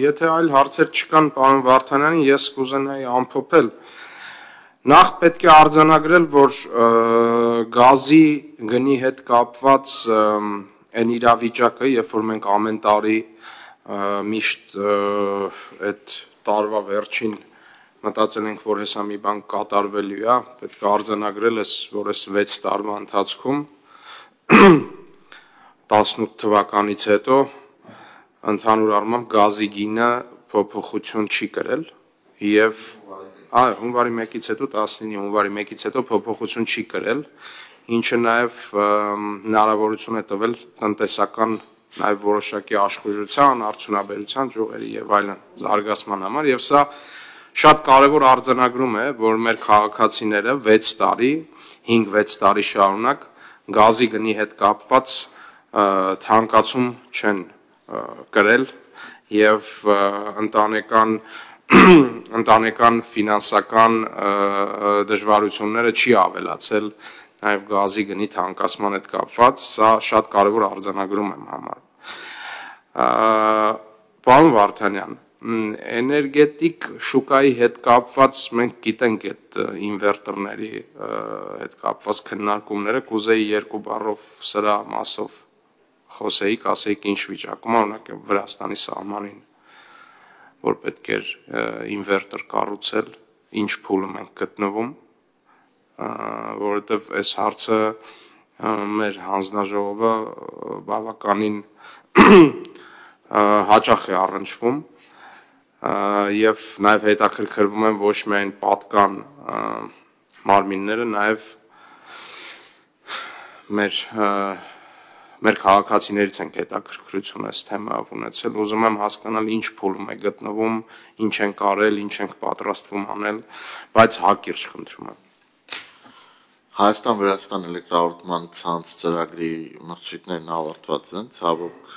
եթե այլ հարցեր չկան, պարոն Վարդանյան, ես կուզենայի ամփոփել։ Նախ պետք է արձանագրել, որ գազի գնի հետ կապված այն իրավիճակը, երբ որ մենք ամեն տարի միշտ այդ տարվա վերջին մտածել ենք, որ հեսա մի բան կատարվելու է, պետք է արձանագրել, որ այս 6 տարվա ընթացքում 18 թվականից հետո ընդհանուր առմամբ գազի գինը փոփոխություն չի կրել եւ հունվարի 1-ից հետո 19 հունվարի 1-ից հետո փոփոխություն չի կրել, ինչը նաեւ հնարավորություն է տվել տնտեսական նաեւ որոշակի աշխուժության, արդյունաբերության, ջողերի եւ այլն զարգացման համար եւ սա շատ կարևոր արձանագրում է, որ մեր քաղաքացիները 6 տարի, 5-6 տարի շարունակ գազի գնի հետ կապված թանկացում չեն կրել եւ ընտանեկան ֆինանսական դժվարությունները չի ավելացել նաեւ գազի գնի թանկացման հետ կապված, սա շատ կարևոր արձանագրում եմ համար։ Պարոն Վարդանյան, էներգետիկ շուկայի հետ կապված մենք գիտենք այդ ինվերտորների հետ կապված քննարկումները, կուզեի 2 բառով սրա մասով խոսեիք, ասեիք ինչ վիճակում, օրինակ Վրաստանի սահմանին, որ պետք էր ինվերտոր կառուցել, ինչ փուլում ենք գտնվում, որովհետև այս հարցը մեր հանձնաժողովը բավականին հաճախ է առնչվում եւ նաեւ հետաքրքրվում են ոչ միայն պատկան մարմինները, նաեւ մեր քաղաքացիներից ենք հետաքրքրություն այս թեմայով ունեցել, ուզում եմ հասկանալ ինչ փուլում է գտնվում, ինչ ենք արել, ինչ ենք պատրաստվում անել, բայց հակիրճ խնդրում եմ։ Հայաստան-Վրաստան էլեկտրահաղորդման ցանց ծրագրի մրցույթներն ավարտված են, ցավոք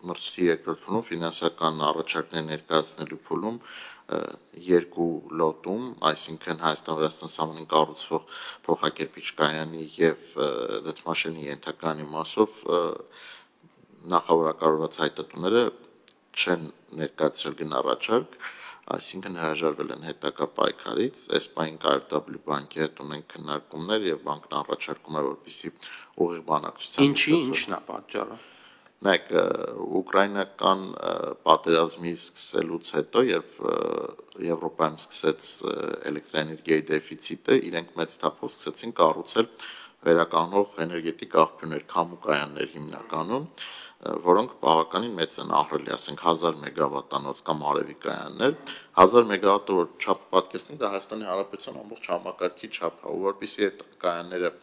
մրցույթի երկրորդ փուլում ֆինանսական առաջարկներ ներկայացնելու փուլում 2 լոտում, այսինքն Հայաստան-Վրաստան սահմանին կառուցվող փոխակերպիչ կայանի եւ դդմաշինի ենթակայանի մասով նախավորակարգված հայտատուները չեն ներկայացրել գնառաչարք, այսինքն հրաժարվել են հետագա պայքարից, այս պահին KfW բանկի հետ ունենք քննարկումներ եւ բանկն առաջարկում է, որպեսզի ուղիղ բանակցության Ինչն է պատճառը։ Նայեք, ուկրաինական պատերազմի սկսելուց հետո, երբ Եվրոպայում սկսեց էլեկտրաէներգիայի դեֆիցիտը, իրենք մեծ թափով սկսեցին կառուցել վերականգնող էներգետիկ աղբյուրներ, քամու կայաններ հիմնականում, որոնք բավականին մեծ են ահռելի, ասենք 1000 մեգավատանոց կամ արևի կայաններ, 1000 մեգավատը որ չափ պատկերացնենք, դա Հայաստանի Հանրապետության ամբողջ համակարգի չափ է, որովհետեւ այդ կայանները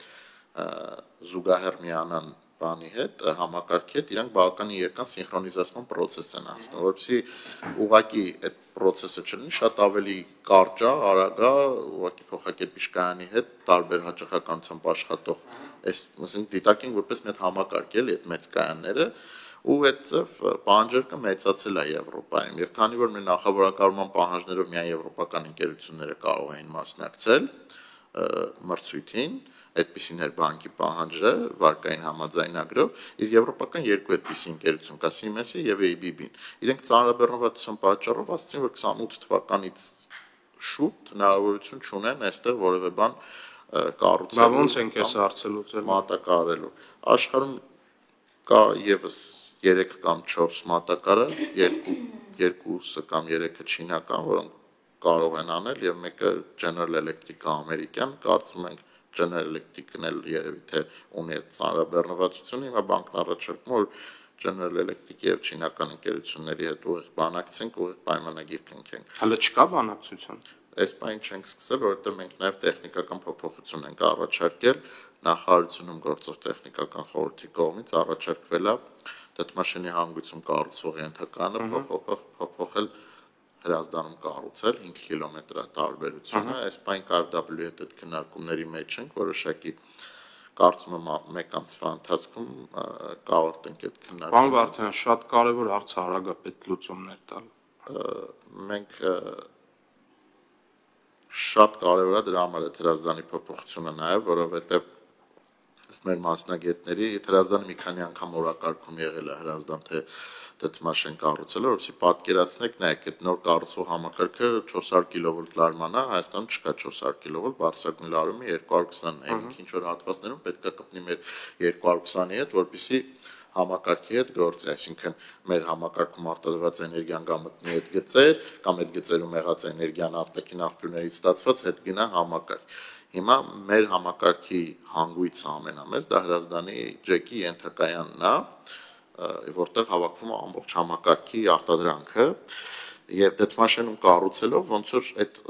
զուգահեռ միանան բանի հետ, համակարգի հետ, իրանք բավականին երկար սինխրոնիզացման process են անցնում, որովհետեւ ուղղակի այդ process-ը չլինի, շատ ավելի կարճ է, արագ է, ուղղակի փոխակերպիչ կայանի հետ տարբեր հաճախականությամբ աշխատող, այսինքն դիտարկենք որպես մի հատ համակարգ էլի այդ մեծ կայանները, ու այդտեղ պահանջարկը մեծացել է Եվրոպայում, եւ քանի որ մեր նախավորակարգման պահանջներով միայն եվրոպական ընկերությունները կարող էին մասնակցել մրցույթին, այդպիսին էր բանկի պահանջը վարկային համաձայնագրով, իսկ եվրոպական 2 այդպիսի ընկերություն կա Siemens-ը եւ ABB-ն։ Իրենք ծանրաբեռնվածության պատճառով ասացին, որ 28 թվականից շուտ հնարավորություն չունեն այստեղ որևէ բան կառուցել։ Բա ոնց ենք այս հարցը լուծել։ Մատակարարելու։ Աշխարհում կա եւս 3 կամ 4 մատակարար, 2 կամ 3-ը չինական, որոնք կարող են անել եւ մեկը General Electric-ը ամերիկյան, կարծում ենք General Electric-ն էլ երևի թե ունի այդ ծանրաբեռնվածությունը, հիմա բանկն առաջարկում որ General Electric-ի եւ չինական ընկերությունների հետ ուղիղ բանակցենք, ուղիղ պայմանագիր կնքենք։ Հələ չկա բանակցություն։ Այս բանը չենք սկսել, որովհետեւ մենք նաեւ տեխնիկական փոփոխություն ենք առաջարկել, նախարարությունում գործող տեխնիկական խորհրդի կողմից առաջարկվել է դդմաշինի հանգույցում կառուցվող ենթակայանը փոփոխել հրազդանում կառուցել 5 կիլոմետր տարբերությունը, այս բան KfW-ի հետ քննարկումների մեջ ենք, որոշակի կարծում եմ մեկ ամսվա ընթացքում կավարտենք այդ քննարկումը։ Պարոն Վարդանյան, շատ կարևոր հարց արագապետ լուծումներ տալ։ Մենք շատ կարևոր է դրա համար այդ հրազդանի փոփոխությունը նաև, որովհետև ըստ մեր մասնագետների հրազդանը մի քանի անգամ օրակարգում եղել է հրազդան թե դդմաշ են կառուցել, որովհետեւ պատկերացնեք, նայեք, այդ նոր կառուցվող համակարգը 400 կիլովոլտ լարման է, Հայաստանում չկա 400 կիլովոլտ, բարձրագույն լարումը 220-ն է, ինչ որ հատվածներում պետք է կպնի մեր 220-ի հետ, որպեսզի համակարգի հետ գործի, այսինքն մեր համակարգում արտադրված էներգիան կամ մտնի հետ գծեր, կամ այդ գծերում եղած էներգիան արտաքին աղբյուրներից ստացված հետ գնա համակարգ։ Հիմա մեր համակարգի հանգույցը ամենամեծ դա Հրազդանի ջեկի ենթակայանն է, որտեղ հավաքվում է ամբողջ համակարգի արտադրանքը, եւ դդմաշենում կառուցելով ոնց որ այդ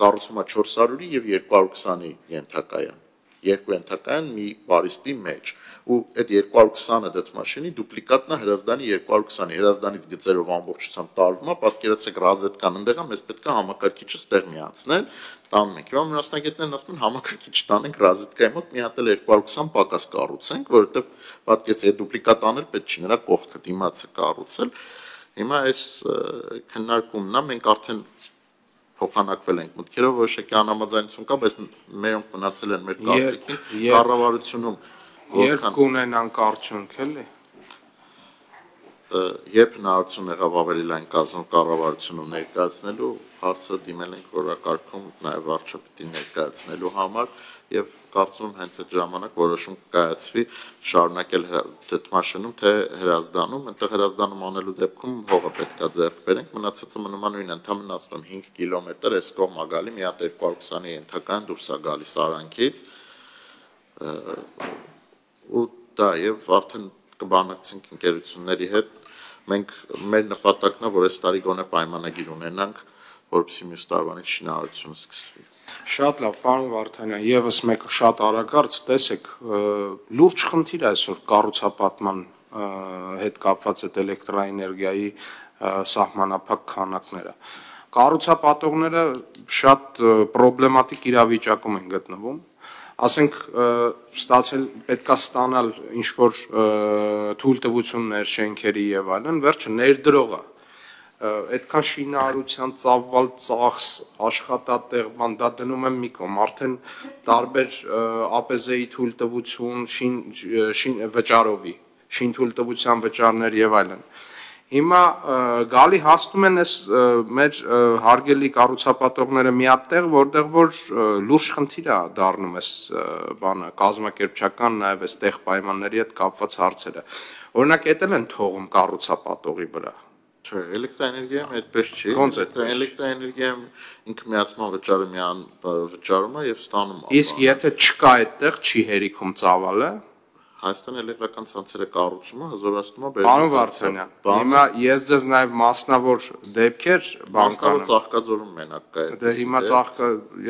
կառուցումը 400-ի եւ 220-ի ենթակայան, երկու ենթակայան մի բարիսպի մեջ, ու այդ 220-ը դդմաշինի դուպլիկատն է Հրազդանի 220-ի, Հրազդանից գծերով ամբողջությամբ տարվում է, պատկերացրեք ռազետկան ընդեղ է, մեզ պետք է համակարգիչը ստեղ միացնել, տանում ենք։ Հիմա մասնագետներն ասում են համակարգիչ տանենք ռազետկայի մոտ, մի հատ էլ 220 պակաս կառուցենք, որովհետեւ պատկերացրեք այդ դուպլիկատ անել պետք չի, նրա կողքը դիմացը կառուցել։ Հիմա այս քննարկումն է, մենք արդեն փոխանակվել ենք մտքերով, որոշակի անհամաձայնություն կա, բայց մերոնք մնացել են մեր կարծիքին, կառավարությունում երբ կունենանք արդյունք, էլի։ Երբ հնարավորություն եղավ ավելի լայն կազմում կառավարությունում ներկայացնելու հարցը դիմել ենք օրակարգում նաև վարչապետին ներկայացնելու համար եւ կարծում եմ հենց այդ ժամանակ որոշում կկայացվի շարունակել դդմաշնում թե Հրազդանում, այնտեղ Հրազդանում անելու դեպքում հողը պետքա ձեռք բերենք, մնացածը մնում է նույնն, ընդհանրապես ասում եմ 5 կիլոմետր էս կողմա գալի, մի հատ 220-ի ենթական դուրս է գալիս Սարանքից, ու դա եւ արդեն կբանակցենք ընկերությունների հետ, մենք մեր նպատակն է, որ այս տարի գոնե պայմանագիր ունենանք, որպեսզի մյուս տարվանից շինարարությունը սկսվի։ Շատ լավ, պարոն Վարդանյան, եւս մեկ շատ արագարծ, տեսեք, լուրջ խնդիր է այսօր կառուցապատման հետ կապված այդ էլեկտրաէներգիայի սահմանափակ քանակները։ Կառուցապատողները շատ պրոբլեմատիկ իրավիճակում են գտնվում, ասենք ստացել պետքա ստանալ ինչ որ թույլտվություններ շենքերի եւ այլն, վերջը ներդրողը այդքան շինարարության ծավալ ծախս աշխատատեղ բան դա դնում եմ մի կողմ, արդեն տարբեր ԱՊԶ-ի թույլտվություն, վճարովի, շինթույլտվության վճարներ եւ այլն։ Հիմա գալի հասնում են այս մեր հարգելի կառուցապատողները մի հատ տեղ, որտեղ որ լուրջ խնդիր է դառնում այս բանը, կազմակերպչական նաև այս տեղ պայմանների հետ կապված հարցերը։ Օրինակ, էտել են թողում կառուցապատողի վրա։ Չէ, էլեկտրաէներգիայում այդպես չի։ Ոնց է։ Էլեկտրաէներգիայում ինքը միացման վճարը միան վճարում է եւ ստանում է։ Իսկ եթե չկա այդտեղ, չի հերիքում ծավալը։ Հայաստան էլեկտրական ցանցերը կառուցումը հզորացնում է Պարոն Վարդանյան, հիմա ես ձեզ նաև մասնավոր դեպքեր բանկանեմ։ Ծաղկաձորում մենակ կա։ Դե հիմա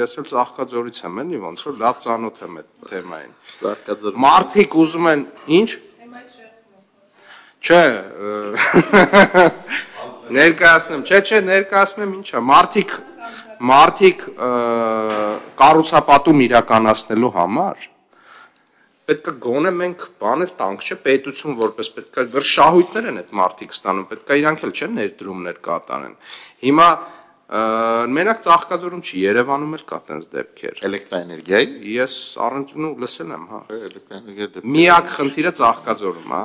ես էլ Ծաղկաձորից եմ, էլի ոնց որ լավ ծանոթ եմ այդ թեմային։ Ծաղկաձոր։ Մարդիկ ուզում են ինչ։ Չէ, ներկայացնեմ, չէ, ներկայացնեմ ինչա, մարդիկ կառուցապատում իրականացնելու համար պետքա գոնե մենք բաներ տանք, չէ, պետություն որպես պետքա շահույթներ են այդ մարդիկ ստանում, պետքա իրանք էլ չէ ներդրումներ կատարեն։ Հիմա մենակ Ծաղկաձորում չի, Երևանում էլ կա տենց դեպքեր։ Էլեկտրաէներգիայի։ Ես առնչվում լսել եմ, հա։ Էլեկտրաէներգիա դեպքեր։ Միակ խնդիրը Ծաղկաձորում, հա։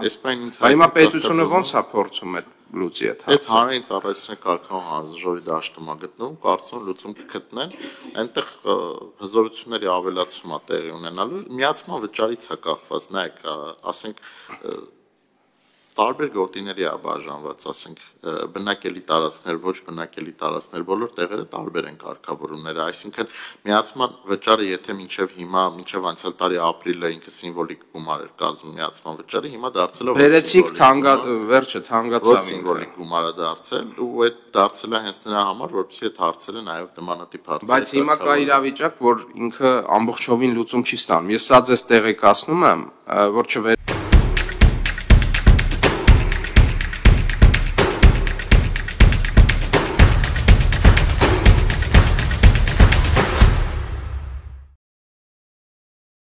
Հիմա պետությունը ոնց է փորձում այդ լուծի այդ հարցը։ Այդ հանրային ծառայության կարգավորման հանձնաժողովի դաշտում է գտնվում, կարծում լուծում կգտնեն, այնտեղ հզորությունների ավելացում է տեղի ունենալու, միացման վճարից է կախված, նայեք, ասենք տարբեր գոտիների է բաժանված, ասենք բնակելի տարածքներ, ոչ բնակելի տարածքներ, բոլոր տեղերը տարբեր են կարգավորումները, այսինքն միացման վճարը, եթե մինչև հիմա, մինչև անցյալ տարի ապրիլը ինքը սիմվոլիկ գումար էր կազմում միացման վճարը, հիմա դարձել է վերջը թանկացավ սիմվոլիկ գումար է դարձել, ու այդ դարձել է հենց նրա համար, որպեսզի այդ հարցերը նաև նմանատիպ հարցեր։ Բայց հիմա կա իրավիճակ, որ ինքը ամբողջովին լուծում չի ստանում։ Ես սա ձեզ տեղեկացնում եմ, որ